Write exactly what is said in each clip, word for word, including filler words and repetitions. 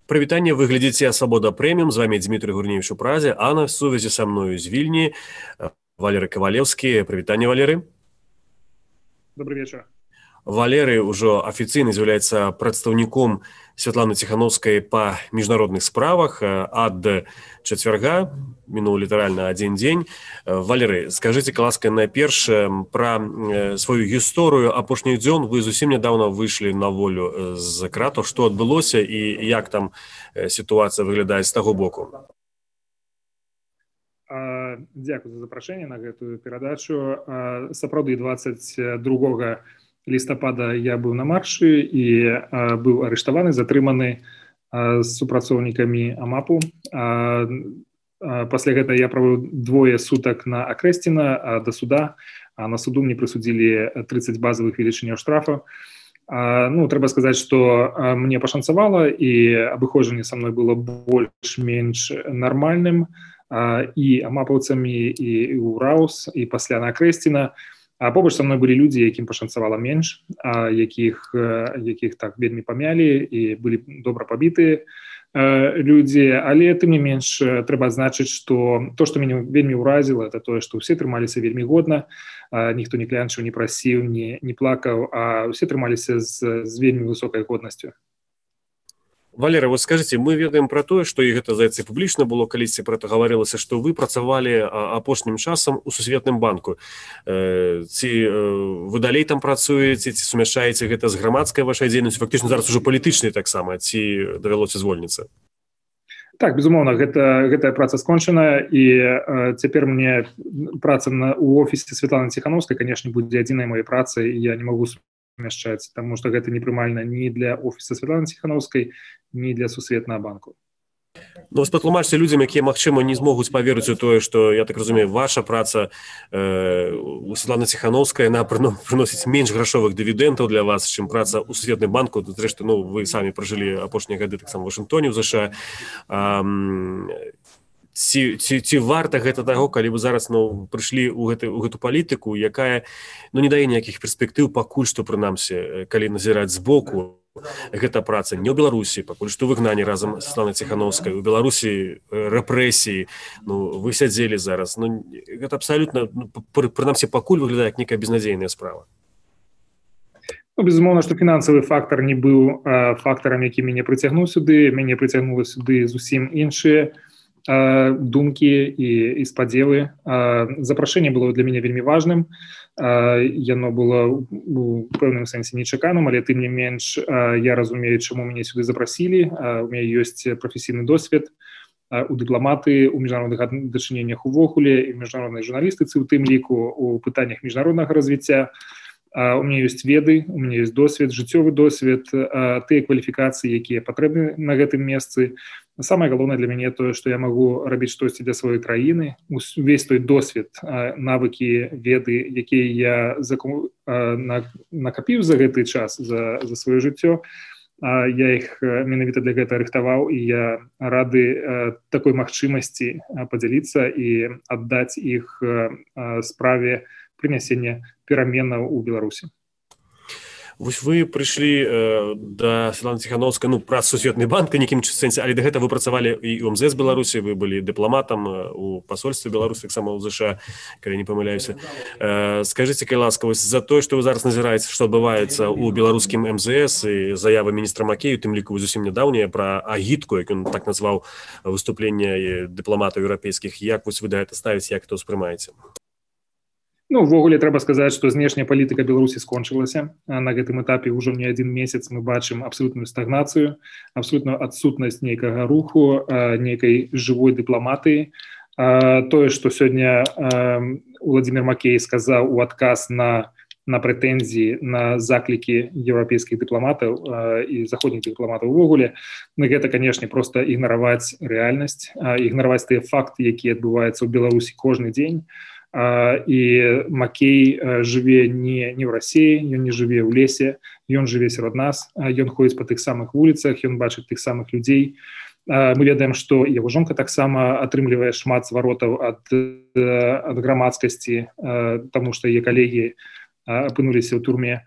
Прывітанне, вы глядзіце «Свабода Прэміум», з вами Дмітрий Гурневіч у Празе, а на сувязі са мною з Вільні Валерый Кавалеўскі. Прывітанне, Валерый. Добрый вечер. Валерый ўжо афіцыйна з'яўляецца прадстаўніком Святланы Ціханаўскай па міжнародных справах ад чацвярга, мінуў літаральна адзін дзень. Валерый, скажыце, ласка, найперш пра сваю гісторыю апошніх дзён. Вы зусім нядаўна выйшлі на волю з кратаў. Што адбылося і як там сітуацыя выглядае з таго боку? Дзякую за запрашэнне на гэтую перадачу. Сапраўды, двадцать другога лістапада я быў на маршы і а, быў арыштаваны, затрыманы а, з супрацоўнікамі АМАПу. А, а, пасля гэта я правыў двое сутак на Акрэсціна а, да суда. А на суду мне прысудзілі тридцать базавых велічыняў штрафа. А, ну, трэба сказаць, што а, мне пашанцавала і абыходжанне са мной было больш-менш нармальным. А, і амапаўцамі, і, і УРАУС, і пасля на Акрэсціна. А побач са мной былі людзі, якім пашанцавала менш, а якіх, якіх так вельмі памялі і былі добра пабітыя людзі. Але тым не менш трэба адзначыць, што то, што мяне вельмі ўразіла, это тое, што ўсе трымаліся вельмі годна, ніхто не клянчыў, не прасіў, не, не плакаў, а ўсе трымаліся з, з вельмі высокай годнасцю. Валерый, вот скажите, мы ведаем про тое, што і гэта, здаецца, публічна было, калісьці пра гэта гаварылася, што вы працавалі апошнім часам у Сусветным банку. Ці вы далей там працуеце, ці сумяшчаеце гэта з грамадскай вашай дзейнасцю, фактычна зараз ужо палітычнай таксама, ці давялося звольніцца? Так, безумоўна, гэта, гэтая праца скончаная, і э, цяпер мне праца на, у офісе Святланы Ціханаўскай, канешне, будзе адзінай моей працай, і я не магу сумяшчаць, таму што гэта непрымальна ні для офіса Святланы Ціханаўскай, ні для Сусветнага банку. Ну, патлумачце людзям, якія, магчыма, не змогуць паверыць у тое, што, я так разумею, ваша праца э, у Святланы Ціханаўскай, яна прыносіць менш грашовых дывідэнтаў для вас, чым праца ў Сусветным банку. Зрэшты, ну, вы самі пражылі апошнія гады таксама ў Вашынгтоне, ў ЗША. Ам... Ці, ці, ці варта гэта таго, калі вы зараз ну, прыйшлі ў, гэты, ў гэту палітыку, якая ну, не дае ніякіх перспектыў пакуль што, прынамсі, калі назіраць збоку, гэта праца не ў Беларусі, пакуль што выгнанне разам з Святланай Ціханаўскай, у Беларусі рэпрэсіі, ну, вы сядзелі зараз. Ну, гэта абсалютна, ну, прынамсі, пакуль выглядае як некая безнадзейная справа. Ну, безумоўна, што фінансавы фактар не быў а, фактарам, які мяне прыцягнуў сюды, мяне прыцягнула сюды зусім іншыя думкі і, і спадзевы. Запрашэнне было для мяне вельмі важным. Яно было у пэўным сэнсе нечаканым, але тым не менш я разумею, чаму мяне сюды запрасілі. У мяне ёсць прафесійны досвед у дыпламаты, у міжнародных дачыненнях увогуле, і міжнароднай журналістыцы, у тым ліку у пытаннях міжнароднага развіцця. У мяне ёсць веды, у мяне ёсць досвед, жыццёвы досвед, тыя кваліфікацыі, якія патрэбны на гэтым месцы. Самае галоўнае для мяне тое, што я магу рабіць штосьці для сваёй краіны. Увесь той досвед, навыкі, веды, якія я заку... накапіў за гэты час, за, за сваё жыццё, я іх менавіта для гэтага рыхтаваў, і я рады такой магчымасці падзяліцца і аддаць іх справе прынясення пераменаў у Беларусі. Вось вы прыйшлі э, да Святланы Ціханаўскай, ну, праз Сусветны банк, нейкім сэнсе, але да гэта вы працавалі і ў МЗС Беларусі, вы былі дыпламатам у пасольстве Беларусі, таксама ў ЗША, калі не памыляюся. Э, скажыце, калі ласка, вось за тое, што вы зараз назіраеце, што адбываецца ў беларускім МЗС і заявы міністра Макею, тым ліку зусім нядаўняя пра агітку, як ён так назваў выступленне дыпламатаў еўрапейскіх, як вось вы да гэта ставіце, як это ўспрымаеце? Ну, увогуле, трэба сказаць, што знешняя палітыка Беларусі скончылася. На гэтым этапе ўжо не адзін месяц мы бачым абсалютную стагнацыю, абсалютную адсутнасць нейкага руху, нейкай жывой дыпламатыі. Тое, што сёння Уладзімір Макей сказаў у адказ на, на прэтэнзіі, на заклікі еўрапейскіх дыпламатаў і заходніх дыпламатаў увогуле, гэта, канешне, проста ігнараваць рэальнасць, ігнараваць тыя факты, якія адбываюцца ў Беларусі кожны дзень. І Макей жыве не, не ў Расіі, ён не жыве ў лесе, ён жыве сярод нас, ён ходзіць па тых самых вуліцах, ён бачыць тых самых людзей. Мы ведаем, што яго жонка таксама атрымлівае шмат зваротаў ад, ад грамадскасці, таму што яе калегі апынуліся ў турме.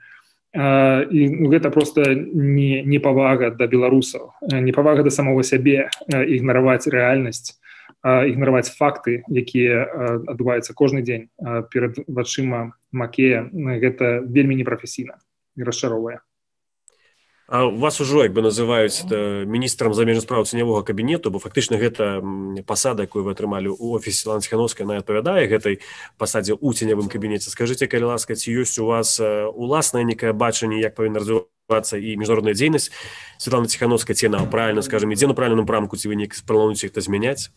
і гэта просто не непавага да беларусаў, непавага да самого сябе, ігнараваць рэальнасць, ігнараваць факты, якія адбываюцца кожны дзень перад вачыма Макея. Гэта вельмі непрафесійна і расчароўвае. А вас ужо як бы называюць міністрам замежных спраў ценявога кабінету, бо фактычна гэта пасада, якую вы атрымалі ў офісе Святланы Ціханаўскай, она адпавядае гэтай пасадзе ў ценявым кабінеце. Скажыце, калі ласка, ці ёсць у вас уласнае некае бачанне, як павінна развівацца і міжнародная дзейнасць Святланы Ціханаўскай, ці яна правільна, скажам, ідзе на правільным напрамку, ці вы неяк плануеце іх змяняць?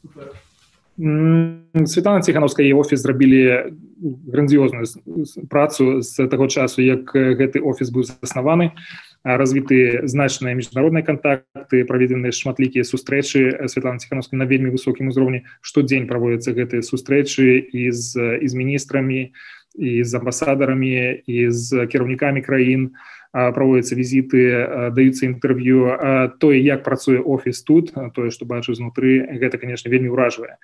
Святлана Ціханаўская і офіс зрабілі грандыёзную працу з таго часу, як гэты офіс быў заснаваны. Развіты значныя міжнародныя кантакты, праведзеныя шматлікія сустрэчы Святланы Ціханаўскай на вельмі высокім узроўні. Штодзень праводзяцца гэтыя сустрэчы і з, і з міністрамі, і з амбасадарамі, і з кіраўнікамі краін. Праводзяцца візіты, даюцца інтэрв'ю. Тое, як працуе офіс тут, тое, што бачу знутры, гэта, канешне, вельмі ўражвае.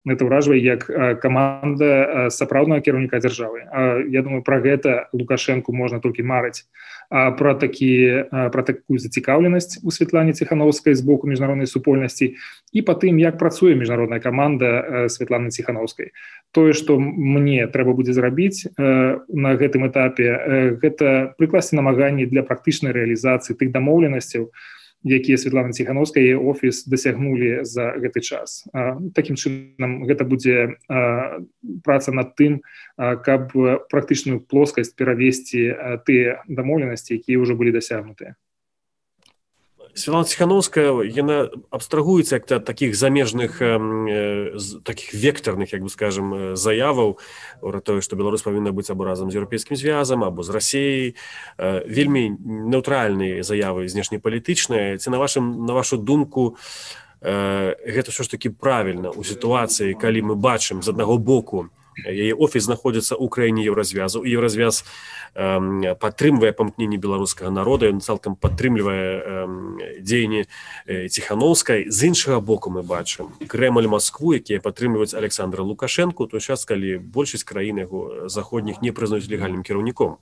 Гэта ўражвае як каманда сапраўднага кіраўніка дзяржавы. Я думаю, пра гэта Лукашэнку можна толькі марыць. Пра, такі, пра такую зацікаўленасць у Святлане Ціханаўскай з боку міжнароднай супольнасці і па тым, як працуе міжнародная каманда Святланы Ціханаўскай. Тое, што мне трэба будзе зрабіць на гэтым этапе, гэта прыкласці намаганні для практычнай рэалізацыі тых дамоўленасцяў, якія Святлана Ціханаўская і офіс дасягнулі за гэты час. Такім чынам, гэта будзе праца над тым, каб практычную плоскасць перавесці тыя дамоўленасці, якія ўжо былі дасягнутыя. Святлана Ціханаўская, яна абстрагуецца як ад такіх замежных, такіх вектарных, як бы скажем, заяваў пра тое, што Беларусь павінна быць або разам з Еўрапейскім звязам, або з Расіяй. Вельмі нейтральныя заявы знешнепалітычныя. Ці на вашым, на вашу думку, гэта ўсё ж такі правільна ў сітуацыі, калі мы бачым з аднаго боку, яе офіс знаходзіцца ў краіне еўразвязу, і еўразвяз падтрымвае памкненні беларускага народа, ён цалкам падтрымлівае дзеянні Ціханаўскай. З іншага боку мы бачым Крэмль, Маскву, якія падтрымліваюць Александра Лукашэнку, той час, калі большасць краін яго заходніх не прызнаюць легальным кіраўніком.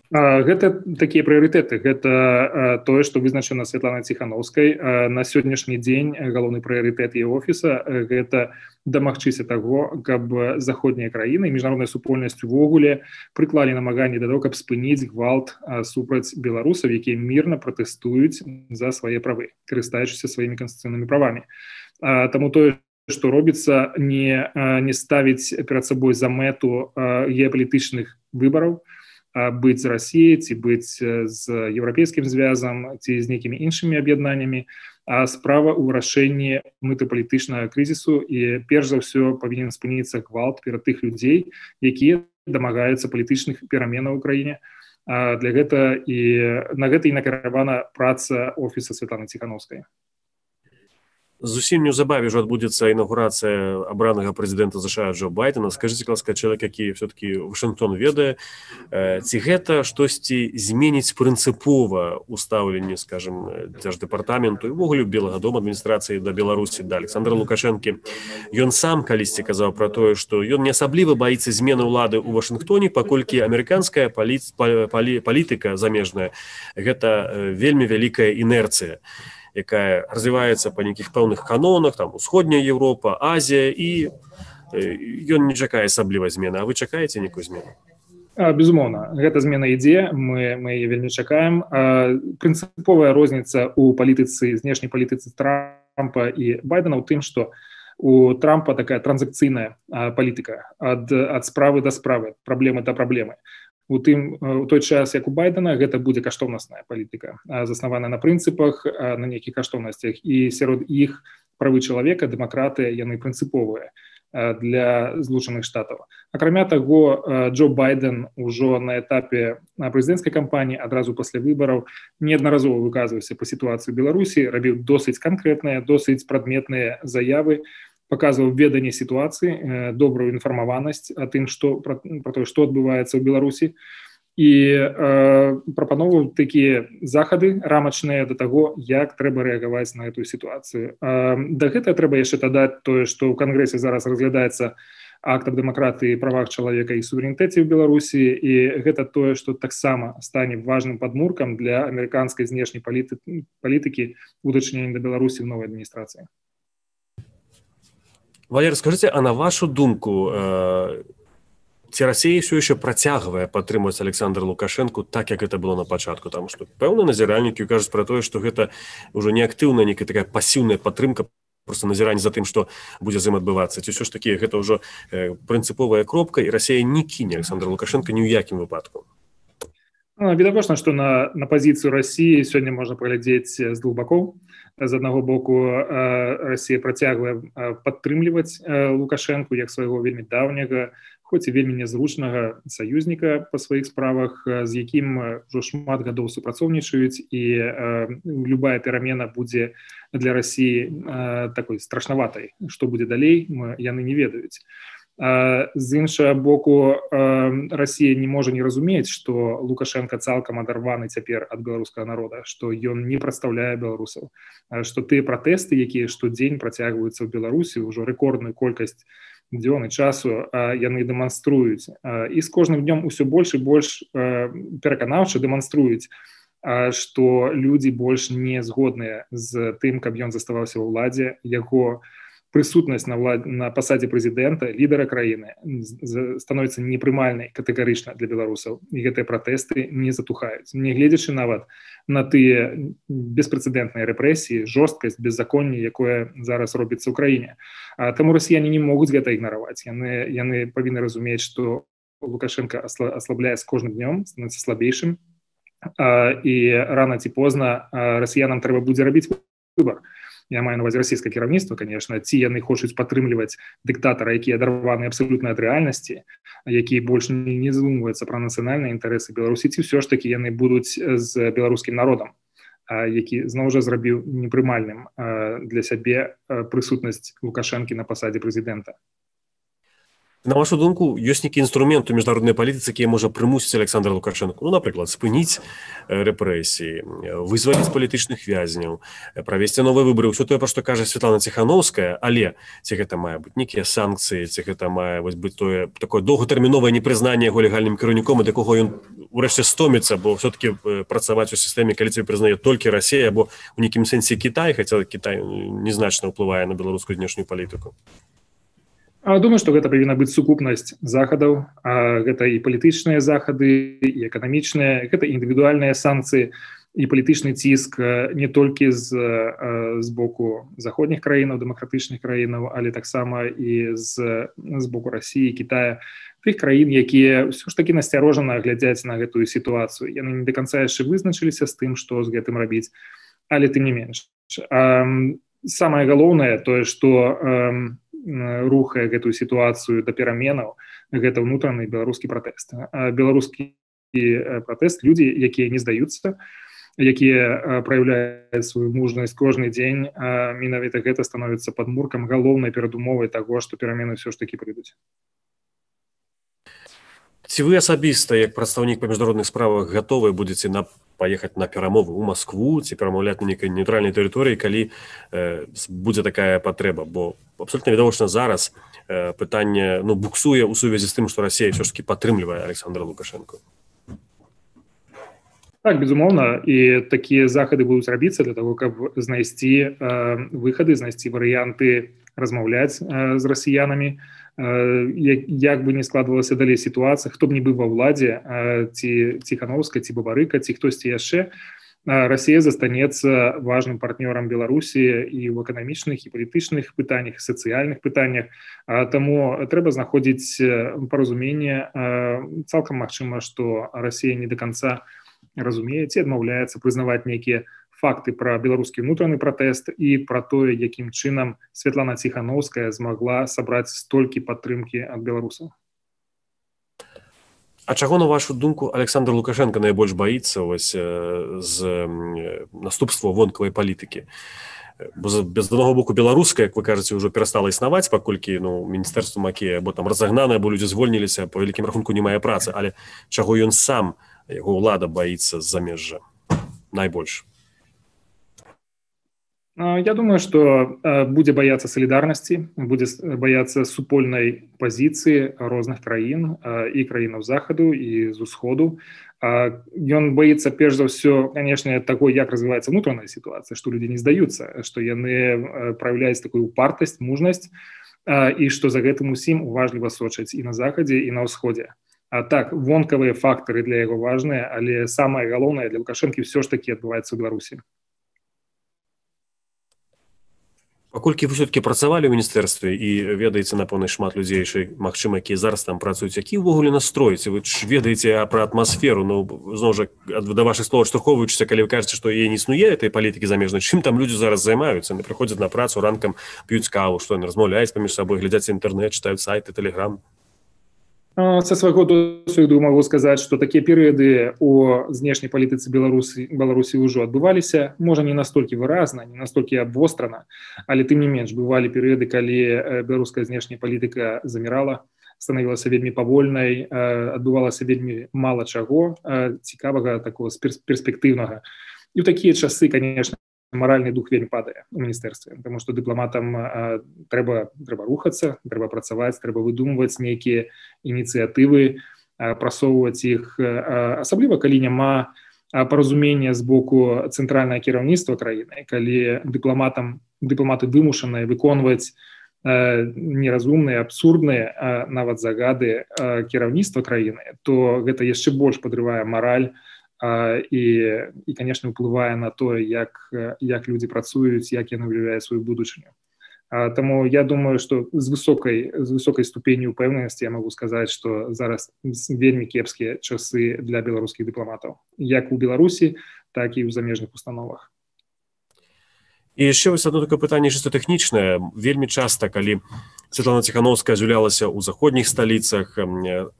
Гэта такія прыярытэты. Гэта тое, што вызначана Святланай Ціханаўскай. На сённяшні дзень галоўны прыярытэт яе офіса – гэта дамагчыся таго, каб заходнія краіны, міжнародная супольнасць увогуле прыклалі намаганні да таго, каб спыніць гвалт супраць беларусаў, якія мірна пратэстуюць за свае правы, карыстаючыся сваімі канстытуцыйнымі правамі. Таму тое, што робіцца, не, не ставіць перад сабой за мэту геапалітычных выбараў, быць з Расіяй, ці быць з Еўрапейскім звязам, ці з нейкімі іншымі аб'яднаннямі, а справа ў вырашэнні мытапалітычнага крызісу, і перш за ўсё павінен спыніцца гвалт перад тых людзей, якія дамагаюцца палітычных пераменаў у краіне. Для гэта і на гэта і накіравана праца офіса Святланы Ціханаўскай. Зусім неўзабаве ўжо адбудзецца інаўгурацыя абранага прэзідэнта США Джо Байдена. Скажыце, ласка, чалавек, які все-таки Вашынгтон ведае, ці гэта штосьці зменіць прынцыпова ў стаўленні, скажем, дзярждэпартаменту і ўвогуле Белага дома адміністрацыі да Беларусі, да Александра Лукашэнкі. Ён сам калісьці казаў пра тое, што ён не асабліва баіцца змены ўлады ў Вашынгтоне, паколькі амерыканская палі... палі... палітыка замежная гэта вельмі вялікая інерцыя, якая развіваецца па нейкіх пэўных канонах, там усходняя Еўропа, Азія, і ён не чакае асаблівай змены. А вы чакаеце нейкую змену? Безумоўна, гэта змена ідзе, мы, мы яе вельмі чакаем. Прынцыповая розніца ў палітыцы, знешняй палітыцы Трампа і Байдена ў тым, што у Трампа такая транзакцыйная палітыка ад, ад справы да справы, праблемы да праблемы. У тым, у той час, як у Байдена, гэта будзе каштоўнасная палітыка, заснаваная на прынцыпах, на нейкіх каштоўнасцях, і сярод іх правы чалавека, дэмакратыя, яны прынцыповыя для Злучаных Штатаў. Акрамя таго, Джо Байден ужо на этапе прэзідэнцкай кампаніі, адразу пасля выбараў, неаднаразова выказваўся па сітуацыі ў Беларусі, рабіў досыць канкрэтныя, досыць прадметныя заявы, паказваў веданне сітуацыі, добрую інфармаванасць о тым, што, пра, пра тое, што адбываецца ў Беларусі, і э, прапановваў такія захады рамачныя да таго, як трэба рэагаваць на гэтую сітуацыю. Э, да гэтага трэба яшчэ дадаць тое, што ў Кангрэсе зараз разглядаецца акт аб дэмакратыі, правах чалавека і суверэнітэце ў Беларусі, і гэта тое, што таксама стане важным падмуркам для амерыканскай знешняй палітыкі ў дачыненні да Беларусі ў новай адміністрацыі. Валерий, скажите, а на вашу думку, э, ці Расія ўсё яшчэ працягвае падтрымваць Александра Лукашэнку так, як гэта было на пачатку? Таму што пэўныя назіральнікі кажуць пра тое, што гэта ўжо не актыўная, некая такая пасіўная падтрымка, просто назіранне за тым, што будзе з ім адбывацца. Ці ўсё ж такі гэта ўжо э, прынцыповая кропка, і Расія не кіне Александра Лукашэнка ні ў якім выпадку? Ну, відавочна, што на, на пазіцыю Расіі сёння можна паглядзець з двух бакоў. З аднаго боку, Расія працягвае падтрымліваць Лукашэнку як свайго вельмі даўняга, хоць і вельмі нязручнага саюзніка па сваіх справах, з якім ўжо шмат гадоў супрацоўнічаюць, і любая перамена будзе для Расіі такой страшнаватай. Што будзе далей, яны не ведаюць. З іншага боку, Расія не можа не разумець, што Лукашенко цалкам адарваны цяпер ад беларускага народа, што ён не прадстаўляе беларусаў, што тыя пратэсты, якія штодзень працягваюцца ў Беларусі, ўжо рэкордную колькасць дзён і часу, яны дэманструюць. І з кожным днём усё больш і больш пераканаўча дэманструюць, што людзі больш не згодныя з тым, каб ён заставаўся ва ўладзе, яго прысутнасць на, влад... на пасадзе прэзідэнта, лідара краіны становіцца непрымальнай катэгарычна для беларусаў, і гэтыя пратэсты не затухаюць. Не гледзячы нават на тыя беспрэцэдэнтныя рэпрэсіі, жорсткасць, беззаконне, якое зараз робіцца ў краіне. А таму расіяне не могуць гэта ігнараваць. Яны, яны павінны разумець, што Лукашенко аслабляе з кожным днём, становіцца слабейшым, і рана ці позна расіянам трэба будзе рабіць выбар. Я маю на увазе расійскае кіраўніцтва, конечно, ці яны хочуць падтрымліваць дыктатара, які адарваны абсалютна ад рэальнасці, які больш не задумваюцца пра нацыянальныя інтарэсы Беларусі, ці ўсё ж такі яны будуць з беларускім народам, які зноў жа зрабіў непрымальным для сябе прысутнасць Лукашэнкі на пасадзе прэзідэнта. На вашу думку, ёсць нейкі інструмент у міжнароднай палітыцы, які можа прымусіць Александра Лукашэнку, ну, напрыклад, спыніць рэпрэсіі, вызваліць палітычных вязняў, правесці новыя выбары, ўсё тое, пра што кажа Святлана Ціхановская, але ці гэта мае быць нейкія санкцыі, ці гэта мае быць тое такое доўгатэрміновае непрызнанне яго легальным кіраўніком, і да каго ён урэшце стоміцца, бо ўсё-такі працаваць у сістэме, калі цябе прызнае толькі Расія, або ў нейкім сэнсе Кітай, хаця Кітай незначна ўплывае на беларускую знешнюю палітыку. Думаю, што гэта павінна быць сукупнасць захадаў, гэта і палітычныя захады, і эканамічныя, гэта індывідуальныя санкцыі, і палітычны ціск не толькі з, з боку заходніх краінаў, дэмакратычных краінаў, але таксама і з, з боку Расіі, Кітая, тых краін, якія ўсё ж такі насцярожана глядзяць на гэтую сітуацыю. Яны не да канца яшчэ вызначыліся з тым, што з гэтым рабіць, але тым не менш. Самае галоўнае тое, што рухае гэтую сітуацыю да пераменаў, гэта ўнутраны беларускі пратэст. Беларускі пратэст, людзі, якія не здаюцца, якія праяўляюць сваю мужнасць кожны дзень, менавіта гэта становіцца падмуркам, галоўнай перадумовай таго, што перамены ўсё ж такі прыйдуць. Ці вы асабіста, як прадстаўнік па міжнародных справах, гатовы будзеце на паехаць на перамовы ў Маскву ці перамаўляць на нейкай нейтральнай тэрыторыі, калі э, будзе такая патрэба, бо абсолютно відавочна зараз э, пытанне ну, буксуе ў сувязі з тым, што Расія ўсё ж такі падтрымлівае Александра Лукашэнку. Так, безумоўна, і такія захады будуць рабіцца для того, каб знайсці э, выхады, знайсці варыянты размаўляць э, з расіянамі, як бы не складвалася далей сітуацыя, хто б не быў ва ўладзе, ці Ціхановская, ці Бабарыка, ці хтосьці яшчэ, Расія застанецца важным партнёрам Беларусі і ў эканамічных, і палітычных пытаннях, сацыяльных пытаннях. Таму трэба знаходзіць паразуменне. Цалкам магчыма, што Расія не да канца разумее ці адмаўляецца прызнаваць нейкія факты пра беларускі ўнутраны пратэст і пра тое, якім чынам Святлана Ціхановская змагла сабраць столькі падтрымкі ад беларусаў. А чаго, на вашу думку, Александр Лукашенко найбольш баіцца вось, з наступства вонкавай палітыкі? Бо з аднаго боку беларуская, як вы кажаце, ўжо перастала існаваць, паколькі ну, міністэрства Макея або там разагнанае, або людзі звольніліся, па вялікім рахунку не мае працы, але чаго ён сам, яго ўлада баіцца з замежжа найбольш? Я думаю, што будзе баяцца салідарнасці, будзе баяцца супольнай пазіцыі розных краін і краінаў захаду і з усходу. Ён боится, перш за ўсё, конечно, таго, як развіваецца внутраная сітуацыя, што людзі не здаюцца, што яны праяўляюць такую упартасць, мужнасць, і што за гэтым усім уважліва сочаць і на захадзе, і на ўсходзе. А так, вонкавыя фактары для яго важныя, але самае галоўнае для Лукашэнкі ўсё ж такі адбываецца ў Беларусі. Паколькі вы ўсё-такі працавалі ў міністэрстве і ведаеце, напэўна, шмат людзей, магчыма, якія зараз там працуюць, які ўвогуле настрой? Вы ж ведаеце пра атмасферу, ну, зноў жа, да вашых слоў адштурхоўваючыся, калі вы кажаце, што яе не існуе, этой палітыкі замежнай, чым там людзі зараз займаюцца? Яны прыходзяць на працу ранкам, п'юць каву, што яны размаўляюць паміж сабой, глядзяць інтэрнэт, чытаюць сайты, тэлеграм. Са свайго досведу магу сказаць, што такія перыяды ў знешняй палітыцы Беларусі Беларусі ўжо адбываліся, можа не настолькі выразна, не настолькі абвострана, але тым не менш бывалі перыяды, калі беларуская знешняя палітыка замірала, станавілася вельмі павольнай, адбывалася вельмі мала чаго цікавага, такого перспектыўнага. І ў такія часы, конечно, маральны дух вельмі падае у міністэрстве, тому што дыпламатам трэба трэба рухацца, трэба працаваць, трэба выдумваць нейкія ініцыятывы, прасоўваць іх, асабліва калі няма паразумення з боку цэнтральнага кіраўніцтва краіны, калі дыпламатам дыпламаты вымушаныя выконваць неразумныя, абсурдныя нават загады кіраўніцтва краіны, то гэта яшчэ больш падрывае мараль і, і конечно, ўплывае на тое, як, як людзі працуюць, як яны ўяўляюць сваю будучыню. Таму я думаю, што з высокай, з высокай ступенню ўпэўненасці я магу сказаць, што зараз вельмі кепскія часы для беларускіх дыпламатаў, як у Беларусі, так і ў замежных установах. І яшчэ вось одно такое пытанне чыста тэхнічнае. Вельмі часта, калі Святлана Ціхановская з'яўлялася ў заходніх сталіцах,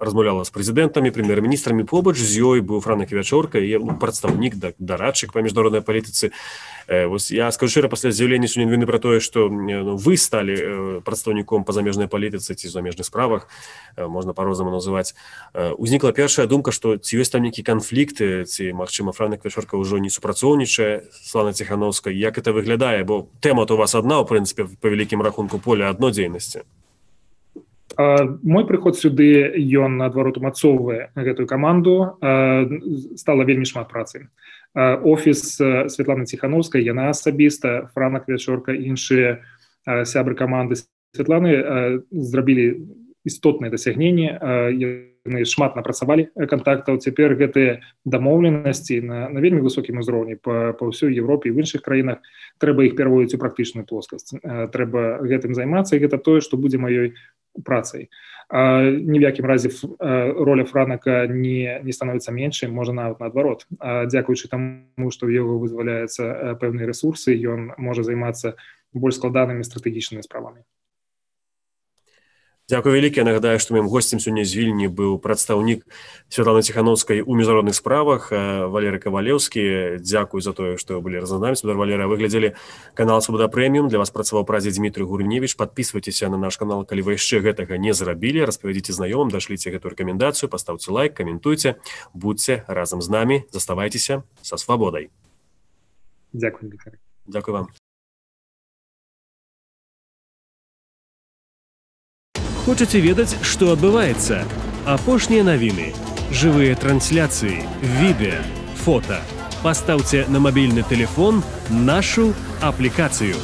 размаўляла з прэзідэнтамі, прэм'ер-міністрамі, побач з ёй быў Франак Ківячорка, ну, прадстаўнік, дарадчык па міжнароднай палітыцы. Вось я скажу шчыра, пасля з'яўлення сёння навіны пра тое, што ну, вы сталі прадстаўніком па замежнай палітыцы ці замежных справах, можна па-рознаму называць. Узнікла першая думка, што ці ёсць там нейкі канфлікт, ці, магчыма, Франак Ківячорка ўжо не супрацоўнічае з Святланай Ціхановскай. Як это выглядае? Бо тэма-то у вас адна, у прынцыпе, па вялікім рахунку, поля адно дзейнасці. Мой прыход сюды, ён, наадварот, умацоўвае гэтую каманду, стала вельмі шмат працы. Офіс Святланы Ціхановскай, яна асабіста, Франак Ківячорка, іншыя сябры каманды Святланы зрабілі істотныя дасягненні, яны шмат напрацавалі кантактаў. Цяпер гэтыя дамоўленасці на, на вельмі высокім узроўні па, па ўсёй Европе і в іншых краінах, трэба іх пераводзіць у практычную плоскасць. Трэба гэтым займацца, і гэта тое, што будзе маёй працай. Ні в якім разе роля Франака не, не становіцца меншай, можа нават наадварот. Дзякуючы таму, што ў яго вызваляюцца пэўныя рэсурсы, ён можа займацца больш складанымі стратэгічнымі справамі. Дзякуй вялікі. Я нагадаю, што маім госцем сёння з Вільні быў прадстаўнік Святланы Ціхановскай у міжнародных справах Валерый Кавалеўскі. Дзякуй за тое, што былі разам з намі. Спадар Валерый, вы глядзелі канал Свабода Прэміум. Для вас працаваў прадзе Дмітрый Гурневіч. Падпісвайцеся на наш канал, калі вы яшчэ гэтага не зрабілі. Распавядзіце знаёмым, дашліце гэтую рэкамендацыю, пастаўце лайк, каментуйце. Будзьце разам з намі. Заставайцеся са свабодай. Дзякуй, Дмітрый. Дзякуй вам. Хочаце ведаць, што адбываецца? Апошнія навіны, жывыя трансляцыі, відэа, фота. Пастаўце на мабільны тэлефон нашу аплікацыю.